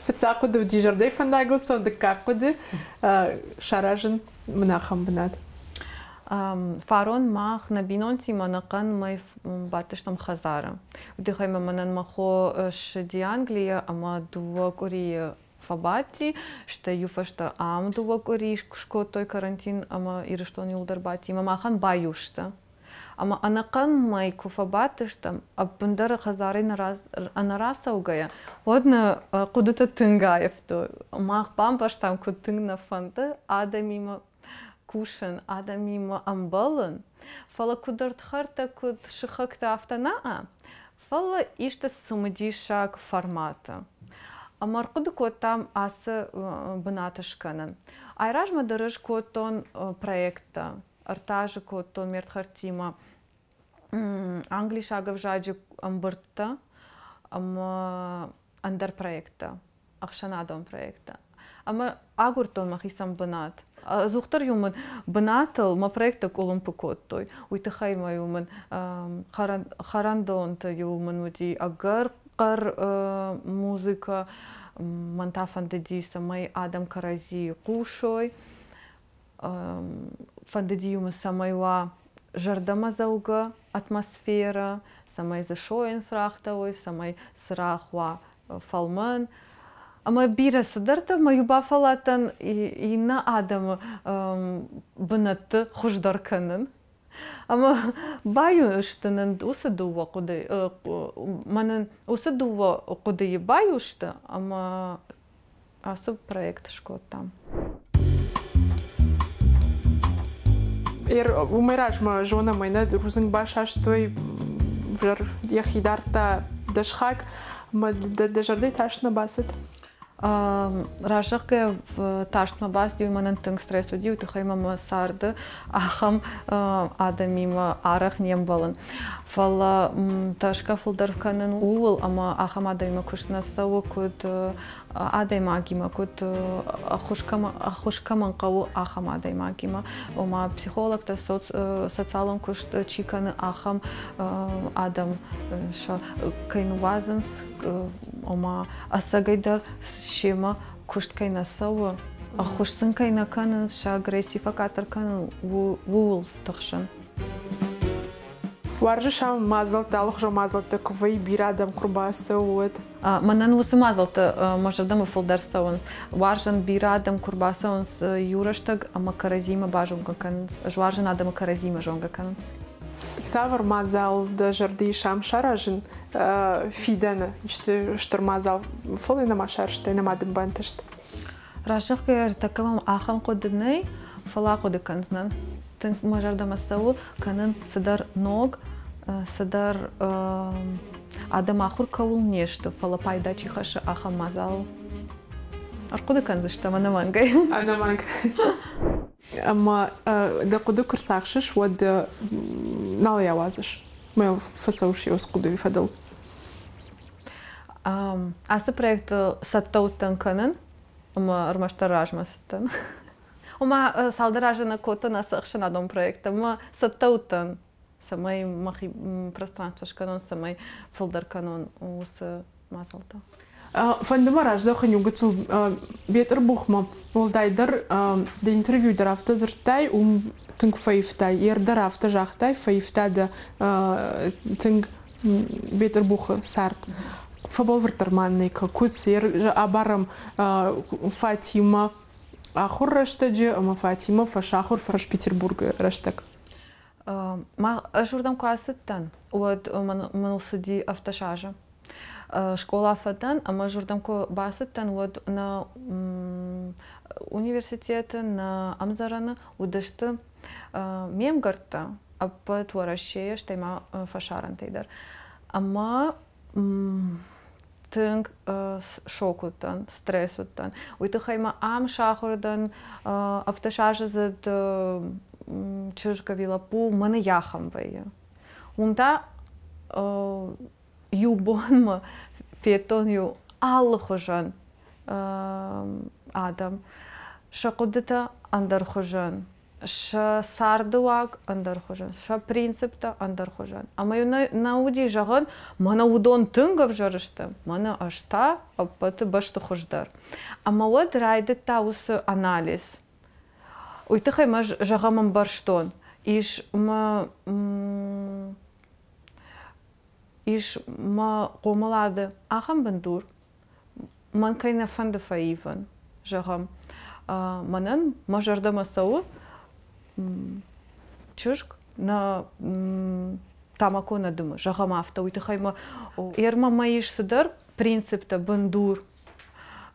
Фыццаг хъуыды уыди зӕрдӕйы фӕндагыл цӕуын, дыккаг хъуыды саразын мын ахӕм бынат. Фарон мах нӕ бинонтимӕ ӕнӕхъӕн мӕй бадтыстӕм хӕдзары. Уый тыххӕй ма мӕнӕн мӕ хо ссыди Английӕ ӕмӕ дыууӕ къуырийы фӕбадти, стӕй иу фӕстӕ ам дыууӕ къуырийы скодтой карантин ӕмӕ Ирыстон иуылдӕр бадти ӕмӕ махӕн баиу сты. Ӕмӕ ӕнӕхъӕн мӕй куы фӕбадтыстӕм, ӕппындӕр хӕдзарӕй ӕнӕрацӕугӕйӕ, уӕд нӕ хъуыдытӕ тынг аивтой. Мах бамбӕрстам, куыд тынг нӕ фӕнды адӕмимӕ кусын, адӕмимӕ ӕмбӕлын, фӕлӕ куыд ӕрдхӕрдтӕ, куыд сыхӕгтӕ, афтӕ нӕ, фӕлӕ исты цымыдисаг форматы. Ӕмӕ ӕрхъуыды кодтам ацы бынаты скӕнын. Айразмӕ дӕр ӕз кодтон проекттӕ, ӕртӕ азы кодтон ме рдхӕрдтимӕ англисаг ӕвзаджы ӕмбырдтӕ ӕмӕ ӕндӕр проекттӕ. Ӕхсӕнадон проекттӕ. Ӕмӕ агуырдтон мӕхицӕн бынат. Ӕдзухдӕр-иу мын бынатыл мӕ проекттӕ къуылымпы кодтой. Уый тыххӕй ма-иу мын хӕрӕндонты-иу мын уыди ӕгӕр хъӕр музыкӕ. Мӕн та фӕндыди, цӕмӕй адӕм кӕрӕдзийы хъусой. Фӕндыди-иу мын, цӕмӕй уа зӕрдӕмӕдзӕугӕ атмосферӕ, цӕмӕй дзы сойын цырӕгътӕ уой, цӕмӕй цырагъ уа фӕлмӕн. Ӕмӕ бирӕ цыдӕртӕ мӕ-иу бафӕлладтӕн иннӕ адӕмы бынӕтты хуыздӕр кӕнын. Ӕмӕ баиу сты нын уыцы дыууӕ хъуыды, мӕнӕн уыцы дыууӕ хъуыдыйы баиу сты ӕмӕ ацы проект скодтам. Уымӕй размӕ зонӕм ӕй, нӕ рудзынг басастой, взӕр йӕхи дардта дӕсхаг, ӕмӕ дӕ зӕрдӕйы тас нӕ бацыд? Разӕгъгӕ тарстмӕ бацыди, уый мӕнӕн тынг стресс уыди, уый тыххӕй мӕ мӕ царды ахӕм адӕмимӕ арӕх не мбӕлын. Фӕлӕ тӕрсгӕ фылдӕр кӕнын ууыл, ӕмӕ ахӕм адӕмимӕ куыст нӕ цӕуы, куыд адӕймагимӕ, куыд ӕххуыс кӕмӕн хъӕуы, ахӕм адӕймагимӕ. Ома психологтӕ, социалон куыст чи кӕны, ахӕм адӕм сӕ кӕй ныууадзынц, ома ӕцӕгӕйдӕр семӕ куыст кӕй нӕ цӕуы, ӕххуыс сын кӕй нӕ кӕнынц, сӕ агресси фӕкъаддӕр кӕнын, ууыл тыхсын. Уарзыс ам мадзӕлттӕ, алыхуызон мадзӕлттӕ куы вӕййы, бирӕ адӕм куы рбацӕуы, уӕд? Мӕнӕн уыцы мадзӕлттӕ мӕ зӕрдӕмӕ фылдӕр цӕуынц. Уарзын, бирӕ адӕм куы рбацӕуынц иу рӕстӕг ӕмӕ кӕрӕдзимӕ базонгӕ кӕнынц. Ӕз уарзын адӕмы кӕрӕдзимӕ зонгӕ кӕнын. Цавӕр мадзал дӕ зӕрды ис ам саразын фидӕны? Исты стыр мадзал, фӕлӕ нӕма сарӕзтай, нӕма дын бантыст? Разӕгъгӕ ӕртӕккӕ мӕм ахӕм хъуыды нӕй, фӕлӕ ахъуыды кӕндзынӕн. Тынг мӕ зӕрдӕмӕ цӕуы кӕнын цыдӕр ног, цыдӕр адӕм ахуыр кӕуыл не сты, фӕлӕ пайда чи хӕссы, ахӕм мадзал. Ӕрхъуыды кӕндзыстӕм ӕнӕмӕнгӕй. Ӕнӕмӕнг. Ӕмӕ дӕ хъуыды куы рцахсыс, уӕд нал ӕй ауадзыс. Мӕ фӕцӕуыс йӕ хъуыдыйы фӕдыл. Ацы проекты цӕттӕ уыдтӕн кӕнын ӕмӕ ӕрмӕстдӕр размӕ цыдтӕн. Ома цалдӕр азы нӕ кодтон ацы ӕхсӕнадон проект ӕмӕ цӕттӕ уыдтӕн, цӕмӕй мӕхи пространство скӕнон, цӕмӕй фылдӕр кӕнон уыцы мадзӕлттӕ. Фӕнды мӕ раздӕхын иу гыццыл Бетъырбухмӕ, уӕлдайдӕр дӕ интервью дӕр афтӕ дзырдтай, уым тынг фӕивтай, ер дӕр афтӕ загътай, фӕивта дӕ тынг Бетъырбухы цард. Фӕбӕлвырддӕр ма нӕ куыд абарӕм Фатимӕ ахуыр рӕстӕджы ӕмӕ Фатимӕ фӕсахуыр Фӕс-Петербургы рӕстӕг. Ӕз уырдӕм куы ацыдтӕн, уӕд мӕныл цыди 17 азы. Скъола фӕдӕн ӕмӕ ӕз уырдӕм куы бацыдтӕн, уӕд нӕ университеты, нӕ ӕмдзӕрӕны уыдысты ме мгӕрттӕ ӕппӕт Уӕрӕсейӕ, стӕй ма фӕсарӕнтӕй дӕр. Ӕмӕ тынг шок уыдтӕн, стресс уыдтӕн. Уый тыххӕй ма ам сахуыр дӕн, ӕвдӕсаздзыд чызг ӕви лӕппу мӕны йахӕм вӕййы. Уым та иу бонмӕ федтон иу алыхуызӕн адӕм. Сӕ хъуыдытӕ ӕндӕрхуызӕн, сӕ цардыуаг ӕндӕрхуызӕн, сӕ принциптӕ ӕндӕрхуызӕн. Ӕмӕ-иу нӕ уыди зӕгъӕн, мӕнӕ уыдон тынг ӕвзӕр сты, мӕнӕ ӕз та ӕппӕты бӕсты хуыздӕр. Ӕмӕ уӕд райдыдта уыцы анализ. Уый тыххӕй мӕ зӕгъӕм ӕмбӕрстон, ис мӕ ис мӕ хъомылады ахӕм бындур, мӕн кӕй нӕ фӕнды фӕивын. Зӕгъӕм, мӕнӕн мӕ зӕрдӕмӕ цӕуы чызг нӕ тамако нӕ дымы, зӕгъӕм афтӕ, уый тыххӕй мӕ ермӕ мӕ ис цыдӕр принциптӕ, бындур,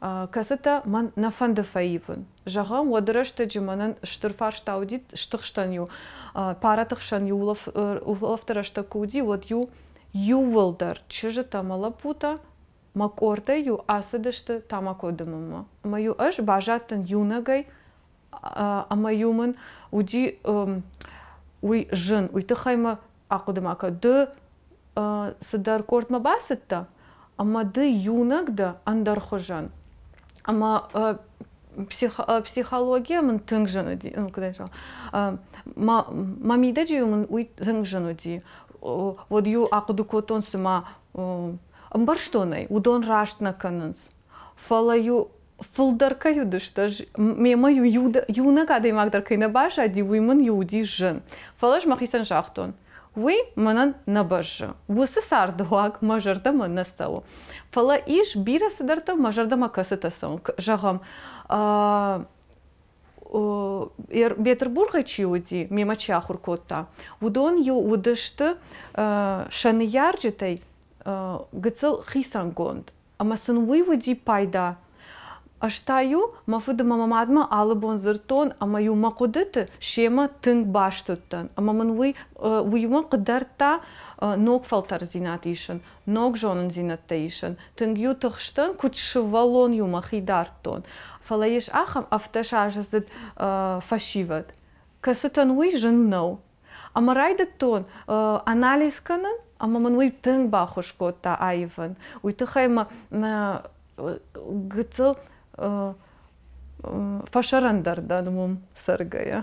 кӕцытӕ мӕн нӕ фӕнды фӕивын. Зӕгъӕм, уӕды рӕстӕджы мӕнӕн стыр фарста уыди, стыхстӕн-иу, параты хсӕн-иу улӕфты рӕстӕг куы уыди, уӕд-иу иууылдӕр чызджытӕ ӕмӕ лӕппутӕ мӕ къордӕй-иу ацыдысты тамако дымынмӕ. Ӕмӕ-иу ӕз баззадтӕн иунӕгӕй ӕмӕ-иу мын уыди уый зын, уый тыххӕй мӕ ахъуыды ма кӕн, ды цыдӕр къордмӕ бацыдтӕ, ӕмӕ ды иунӕг дӕ ӕндӕрхуызӕн. Ӕмӕ психология мын тынг зын уыди, ну, куыд ӕй зӕгъон, мӕ мидӕджы мын уый тынг зын уыди. Уӕд-иу ахъуыды кодтон, цыма ӕмбӕрстон ӕй, уыдон раст нӕ кӕнынц. Фӕлӕ-иу фылдӕр кӕй уыдысты, ӕз мемӕ-иу иунӕг адӕймаг дӕр кӕй нӕ баззади, уый мын-иу уыди зын. Фӕлӕ ӕз мӕхицӕн загътон, уый мӕнӕн нӕ бӕззы. Уыцы цардыуаг мӕ зӕрдӕмӕ нӕ цӕуы. Фӕлӕ ис бирӕ цыдӕртӕ, мӕ зӕрдӕмӕ кӕцытӕ цӕуы. Зӕгъӕм, Бетъырбургӕй чи уыди, мемӕ чи ахуыр кодта, уыдон-иу уыдысты сӕ ныййарджытӕй гыццыл хицӕнгонд. Ӕмӕ сын уый уыди пайда. Ӕз та-иу мӕ фыд ӕмӕ мӕ мадмӕ алы бон дзырдтон ӕмӕ-иу мӕ хъуыдыты семӕ тынг баст уыдтӕн. Ӕмӕ мын уый уыимӕ хъыгдардта ног фӕлтӕрддзинад исын, ног зонындзинӕдтӕ исын. Тынг-иу тыхстӕн, куыд сывӕллон-иу мӕхи дардтон. Фӕлӕ ис ахӕм ӕвддӕсаздзыд фӕсивӕд, кӕцытӕн уый зын нӕу. Ӕмӕ райдыдтон анализ кӕнын, ӕмӕ мын уый тынг баххуыс кодта аивын. Уый тыххӕй мӕ гыццыл фӕсӕрӕндӕр дӕн уым цӕргӕйӕ.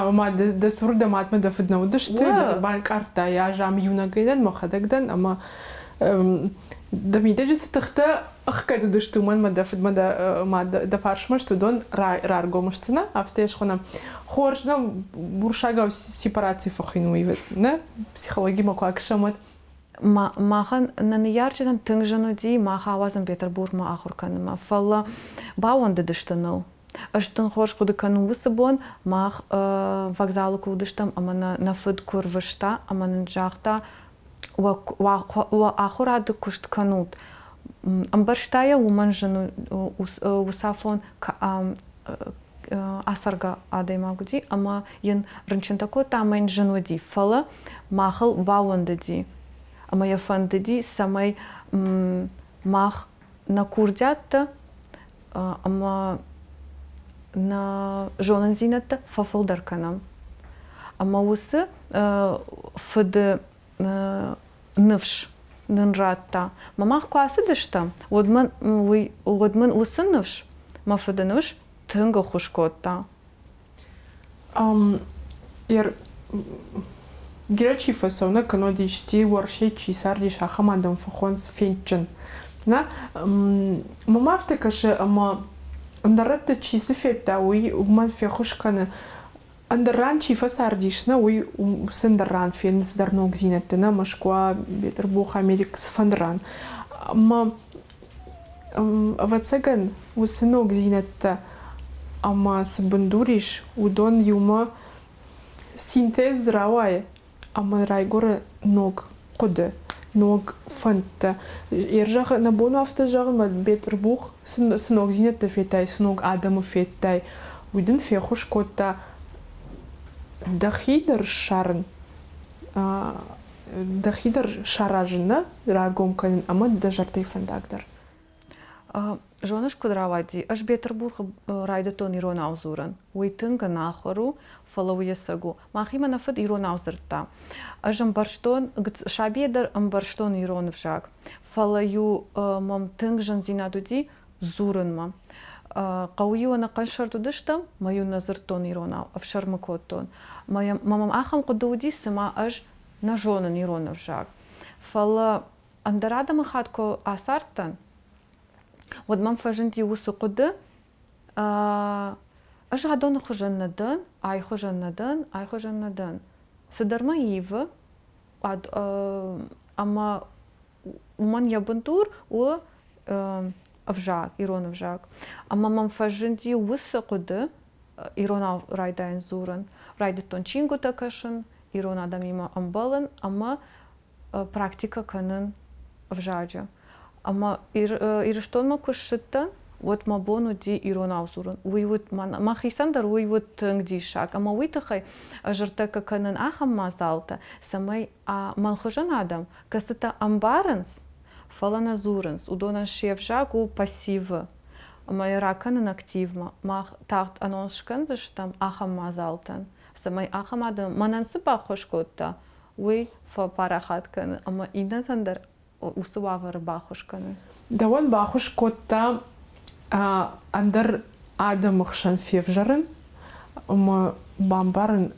Ома дӕ цуры дӕ мадмӕ дӕ фыд нӕ уыдысты, банкъардта йӕ, ӕз ам иунӕгӕй дӕн, мӕхӕдӕг дӕн, ӕмӕ дӕ мидӕджы цы тыхтӕ ӕхгӕд уыдысты, уымӕн мӕ дӕ фыдмӕ дӕ мад дӕ фарсмӕ сты, уыдон раргом сты, нӕ? Афтӕ йӕ схонӕм. Хорз, нӕ уырыссагау сепараци фӕхуыйны, нӕ? Психологимӕ куы акӕсӕм, уӕд. Махӕн нӕ ныййарджытӕн тынг зын уыди мах ауадзын Петербургмӕ ахуыр кӕнынмӕ, фӕлӕ баууӕндыдысты ныл. Ӕз тынг хорз хъуыды кӕнын уыцы бон, мах вокзалы куы уыдыстӕм ӕмӕ нӕ нӕ фыд куы рвыста ӕмӕ нын загъта, уӕ ахуырады куыст кӕнут. Ӕмбӕрста йӕ, уымӕн зын уыцафон ацӕргӕ адӕймаг уыди ӕмӕ йын рынчынтӕ кодта ӕмӕ йын зын уыди, фӕлӕ махыл баууӕндыди ӕмӕ йӕ фӕндыди, цӕмӕй мах нӕ курдиӕттӕ ӕмӕ нӕ зонындзинӕдтӕ фӕфылдӕр кӕнӕм. Ӕмӕ уыцы фыды ныфс нын радта. Мӕ мах куы ацыдыстӕм, уӕд мын уый, уӕд мын уыцы ныфс, мӕ фыды ныфс тынг ӕххуыс кодта. Бирӕ чи фӕцӕуы, кӕннод исти Уӕрӕсейы чи цардис, ахӕм адӕм фӕхонынц фендджын. Нӕ? Мӕм афтӕ кӕсы, ӕмӕ ӕндӕр рӕтты чи цы федта, уый уымӕн феххуыс кӕны. Ӕндӕр ран чи фӕцардис, нӕ, уый уыцы ӕндӕр ран фены цыдӕр ногдзинӕдтӕ, нӕ, Москва, Бетъырбух, Америк, цыфӕнды ран. Ӕмӕ, ӕвӕццӕгӕн, уыцы ногдзинӕдтӕ ӕмӕ цы бындур ис, уыдон иумӕ синтез рауайы ӕмӕ райгуыры ног хъуыды, ног фӕндтӕ. Ӕрзӕгъы, нӕ бон у афтӕ зӕгъын, мӕ Бетъырбух цы ногдзинӕдтӕ федтай, цы ног адӕмы федтай, уый дын феххуыс кодта дӕхи дӕр ссарын, дӕхи дӕр саразын, нӕ раргом кӕнын ӕмӕ дӕ зӕрдӕйы фӕндаг дӕр. Зоныс, куыд рауади? Ӕз Бетъырбухы райдыдтон иронау дзурын. Уый тынг ӕнахуыр у, фӕлӕ уый ӕцӕг у. Мӕхимӕ нӕ фыд иронау дзырдта. Ӕз ӕмбӕрстон, сабийӕ дӕр ӕмбӕрстон ирон ӕвзаг, фӕлӕ-иу мӕм тынг зындзинад уыди дзурынмӕ. Хъӕуы-иу ӕнӕхъӕн сӕрд уыдыстӕм, мӕ-иу нӕ дзырдтон иронау, ӕфсӕрмы кодтон. Мӕ мӕм ахӕм хъуыды уыди, цыма ӕз нӕ зонын ирон ӕвзаг. Фӕлӕ ӕндӕр адӕмыхатт куы ацардтӕн, уӕд мӕм фӕзынди уыцы хъуыды, ӕз адоны хуызӕн нӕ дӕн, ай хуызӕн нӕ дӕн, ай хуызӕн нӕ дӕн. Цыдӕр мӕ ивы, ӕмӕ уымӕн йӕ бындур у ӕвзаг, ирон ӕвзаг. Ӕмӕ мӕм фӕзынди уыцы хъуыды, иронау райдайын дзурын. Райдыдтон чингуытӕ кӕсын, ирон адӕмимӕ ӕмбӕлын ӕмӕ практикӕ кӕнын ӕвзаджы. Ӕмӕ Ирыстонмӕ куы ссыдтӕн, уӕд мӕ бон уыди иронау дзурын. Уый уыд мӕхицӕн дӕр уый уыд тынг диссаг. Ӕмӕ уый тыххӕй ӕз ӕртӕккӕ кӕнын ахӕм мадзалтӕ, цӕмӕй мӕн хуызӕн адӕм, кӕцытӕ ӕмбарынц, фӕлӕ нӕ дзурынц, уыдонӕн се взаг у пассивы ӕмӕ йӕ ракӕнын активмӕ. Мах тагъд анонс скӕндзыстӕм ахӕм мадзалтӕн, цӕмӕй ахӕм адӕм мӕнӕн цы баххуыс кодта, уый фӕпарахат кӕны ӕмӕ иннӕтӕн дӕр уыцы уавӕры баххуыс кӕны. Дӕуӕн баххуыс кодта ӕндӕр адӕмы хсӕн февзӕрын ӕмӕ бамбарын,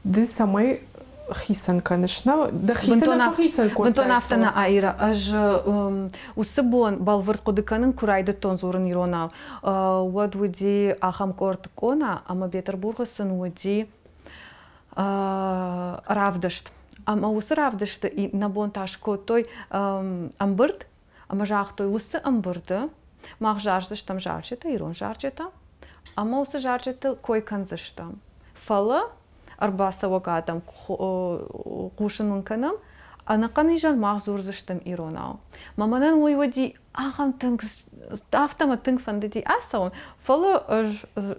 ды цӕмӕй хицӕн кӕныс, нӕ дӕхицӕн нӕ фӕхицӕн кодтай? Бынтон афтӕ нӕ, Аира. Ӕз уыцы бон бӕлвырд хъуыды кӕнын, куы райдыдтон дзурын иронау, уӕд уыди ахӕм къорд къона, ӕмӕ Бетъырбухы сын уыди равдыст. Ӕмӕ уыцы равдысты иннӕ бон та скодтой ӕмбырд ӕмӕ загътой, уыцы ӕмбырды мах зардзыстӕм зарджытӕ, ирон зарджытӕ, ӕмӕ уыцы зарджыты кой кӕндзыстӕм. Фӕлӕ ӕрбацӕуӕг адӕм хъусын уын кӕнӕм, ӕнӕхъӕн изӕр мах дзурдзыстӕм иронау. Мӕ мӕнӕн уый уыди ахӕм тынг, афтӕ мӕ тынг фӕндыди ацӕуын, фӕлӕ ӕз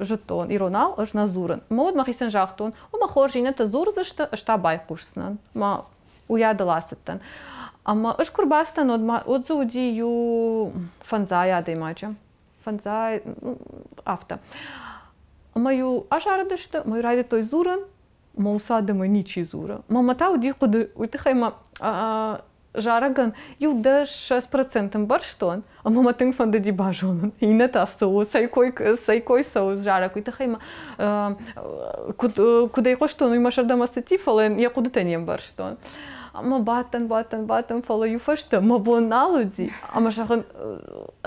зыдтон, иронау ӕз нӕ дзурын. Мӕ уд мӕхицӕн загътон, ома хорз иннӕтӕ дзурдзысты, ӕз та байхъусдзынӕн. Мӕ уыйадыл ацыдтӕн. Ӕмӕ ӕз куы рбацыдтӕн, уӕд ма уӕд дзы уыди иу фӕндзай адӕймаджы. Фӕндзай, афтӕ. Ӕмӕ-иу азарыдысты, ӕмӕ-иу райдыдтой дзурын, мӕ уыцы адӕмӕй ничи дзуры. Мӕ та уыди хъуыды, уый тыххӕй мӕ зарӕгӕн иу 10-20% ӕмбӕрстон, ӕмӕ мӕ тынг фӕндыди базонын, иннӕтӕ цы у, цӕй кой, цӕй кой цӕуы зарӕг, уый тыххӕй мӕ куыд, куыд ӕй хъуыстон, уый мӕ зӕрдӕмӕ цыди, фӕлӕ йӕ хъуыдытӕ не мбӕрстон. Ӕмӕ бадтӕн, бадтӕн, бадтӕн, фӕлӕ иу фӕстӕ мӕ бон нал уыди. Ӕмӕ зӕгъын,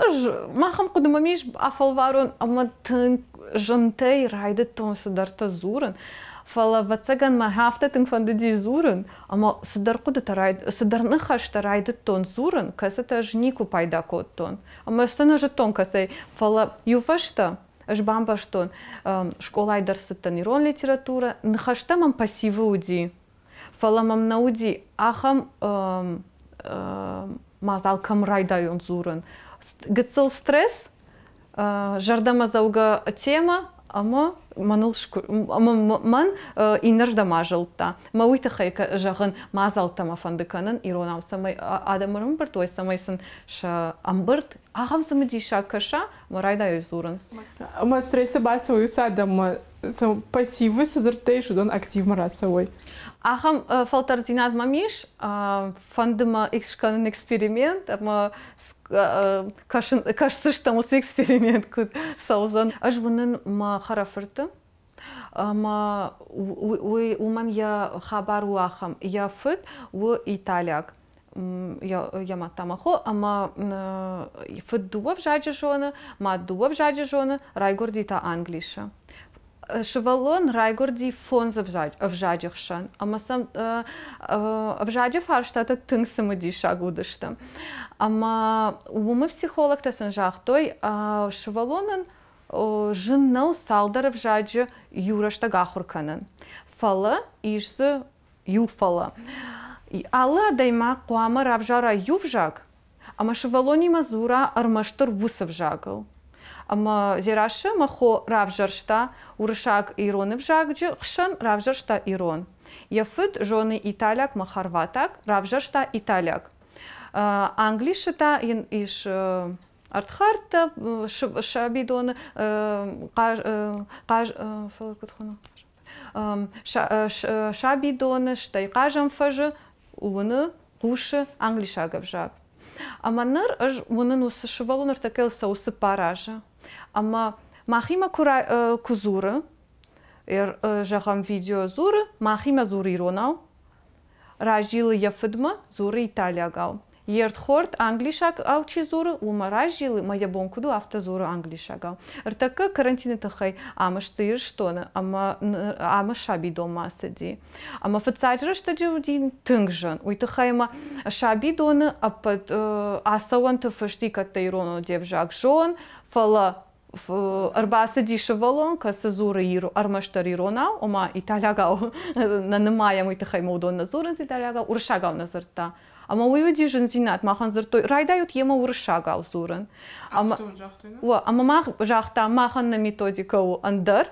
ӕз махӕн хъуыды мӕм ис, афӕлварон, ӕмӕ тынг зынтӕй райдыдтон цыдӕртӕ дзурын. Фӕлӕ, ӕвӕццӕгӕн, мӕ афтӕ тынг фӕндыди дзурын, ӕмӕ цыдӕр хъуыдытӕ, цыдӕр ныхӕстӕ райдыдтон дзурын, кӕцытӕ ӕз никуы пайда кодтон. Ӕмӕ сӕ нӕ зыдтон кӕцӕй, фӕлӕ иу фӕстӕ ӕз бамбӕрстон, скъолайы дӕр цыдтӕн ирон литературӕ, ныхӕстӕ мӕм пассивы уыди, фӕлӕ мӕм нӕ уыди ахӕм мадзал, кӕм райдайон дзурын. Гыццыл стресс, зӕрдӕмӕдзӕугӕ темӕ ӕмӕ мӕныл ӕмӕ мӕн иннӕрдӕм азылдта. Мӕ уый тыххӕй зӕгъын, мадзӕлттӕ мӕ фӕнды кӕнын иронау, цӕмӕй адӕм ӕрӕмбырд уой, цӕмӕй сын сӕ ӕмбырд ахӕм цымыдисаг кӕса, ӕмӕ райдайой дзурын. Ӕмӕ стрессы бацӕуой уыцы адӕммӕ, пассивы цы дзырдтӕ ис, уыдон активмӕ рацӕуой. Ахӕм фӕлтӕрддзинад мӕм ис, фӕнды мӕ скӕнын эксперимент ӕмӕ кӕсдзыстӕм уыцы эксперимент куыд цӕудзӕн. Ӕз уынын мӕ хӕрӕфырты, ӕмӕ уый уымӕн йӕ хабар у ахӕм. Йӕ фыд у италиаг. Йӕ мад та мӕ хо, ӕмӕ фыд дыууӕ взаджы зоны, мад дыууӕ взаджы зоны, райгуырди та Англисы. Сывӕллон райгуырди фондз ӕвзаджы хсӕн, ӕмӕ сӕм ӕвзаджы фарстатӕ тынг цымыдисаг уыдысты. Ӕмӕ уымы психологтӕ сын загътой, сывӕллонӕн зын нӕу цалдӕр ӕвзаджы иу рӕстӕг ахуыр кӕнын. Фӕлӕ ис дзы иу фӕлӕ. Алы адӕймаг хъуамӕ равзара иу взаг, ӕмӕ сывӕллонимӕ дзура ӕрмӕстдӕр уыцы взагыл. Ӕмӕ Дзерассӕ мӕ хо равзӕрста уырыссаг ирон ӕвзаджы хсӕн, равзӕрста ирон. Йӕ фыд зоны италиаг мӕ хорватаг, равзӕрста италиаг. Англисы та йын ис ӕрдхӕрдтӕ сабидоны хъаз фӕлӕ куыд хуыны сабидоны, стӕй хъазӕн фӕзы уыны, хъусы англисаг ӕвзаг. Ӕмӕ ныр ӕз уынын уыцы сывӕллон ӕртӕккӕ цӕуы 4 азы. Ӕмӕ махимӕ куы дзуры, зӕгъӕм, видео дзуры, махимӕ дзуры иронау, разилы йӕ фыдмӕ, дзуры италиагау. Йе рдхорд англисагау чи дзуры, уымӕ разилы, мӕ йӕ бон куыд у, афтӕ дзуры англисагау. Ӕртӕккӕ карантины тыххӕй ам сты Ирыстоны ӕмӕ амы сабидонмӕ ацыди. Ӕмӕ фыццаджы рӕстӕджы уыди тынг зын. Уый тыххӕй ӕмӕ сабидоны ӕппӕт ацӕуӕнты фыст и кӕддӕр иронау де взаг зон, фӕлӕ ӕрбацыди сывӕллон, кӕцы дзуры ӕрмӕстдӕр иронау, ома италиагау нӕ нымайӕм, уый тыххӕй ма уыдон нӕ дзурынц италиагау, уырыссагау нӕ дзырдта. Ӕмӕ уый уыди зындзинад, махӕн дзырдтой, райдайут йемӕ уырыссагау дзурын. Ӕмӕ, ӕмӕ мах загътам, махӕн нӕ методикӕ у ӕндӕр,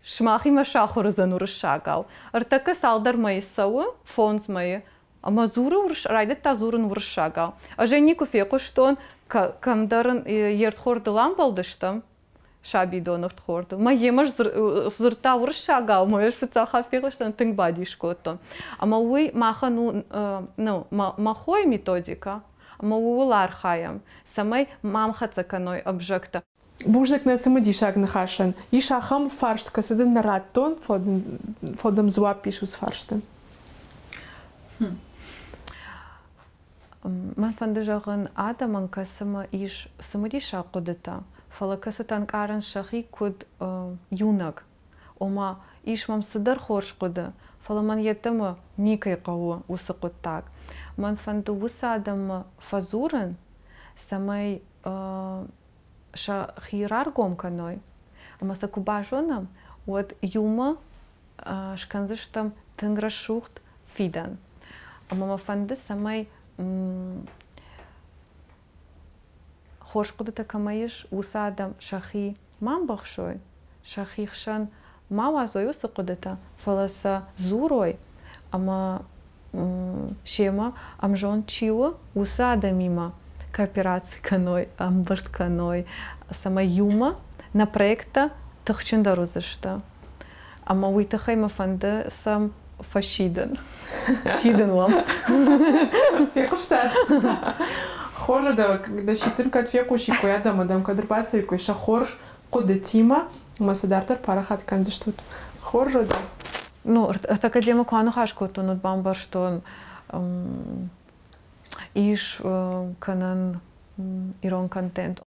сымахимӕ сахуыр уыдзӕн уырыссагау. Ӕртӕккӕ цалдӕр мӕйы цӕуы, 5 мӕйы, ӕмӕ дзуры райдыдта дзурын уырыссагау. Ӕз ӕй никуы фехъуыстон, кӕмдӕр ын йе рдхордыл амбӕлдыстӕм, сабидоны рдхордыл. Мӕ йемӕ дзырдта уырыссагау, мӕ ӕз фыццаг хатт фехъуыстон, тынг бадис кодтон. Ӕмӕ уый махӕн у ну, мӕ хойы методикӕ, ӕмӕ ууыл архайӕм, цӕмӕй мӕм хӕццӕ кӕной ӕвзӕгтӕ. Бузныг нӕ цымыдисаг ныхасӕн. Ис ахӕм фарст, кӕцы дын нӕ радтон, фӕлӕ дӕм дзуапп ис уыцы фарстӕн. Мӕн фӕнды зӕгъын, адӕмӕн кӕцымӕ ис цымыдисаг хъуыдытӕ, фӕлӕ кӕцытӕ ӕнкъарынц сӕхи куыд иунӕг. Ома, ис мӕм цыдӕр хорз хъуыды, фӕлӕ мӕн йеддӕмӕ никӕй хъӕуы уыцы хъуыддаг. Мӕн фӕнды уыцы адӕммӕ фӕдзурын, цӕмӕй сӕхи раргом кӕной, ӕмӕ сӕ куы базонӕм, уӕд иумӕ скӕндзыстӕм тынг рӕсугъд фидӕн. Ӕмӕ мӕ фӕнды, цӕмӕй хорз хъуыдытӕ кӕмӕ ис, уыцы адӕм сӕхи ма мбӕхсой, сӕхи хсӕн ма уадзой уыцы хъуыдытӕ, фӕлӕ сӕ дзурой ӕмӕ семӕ ӕмзонд чи у, уыцы адӕмимӕ коопераци кӕной, ӕмбырд кӕной, цӕмӕй иумӕ нӕ проекттӕ тыхджындӕр уыдзысты. Ӕмӕ уый тыххӕй мӕ фӕнды сӕм фӕсидын. Сидын уӕм. Фехъуыстат? Хорз, дӕ сидтын кӕд фехъусиккой адӕм, адӕм кӕд ӕрбацӕуиккой сӕ хорз хъуыдытимӕ, ӕмӕ сӕ дарддӕр парахат кӕндзыстут. Хорз уӕдӕ. Ну, ӕртӕккӕ демӕ куы аныхас кодтон, уӕд бамбӕрстон, ис кӕнӕн ирон контент.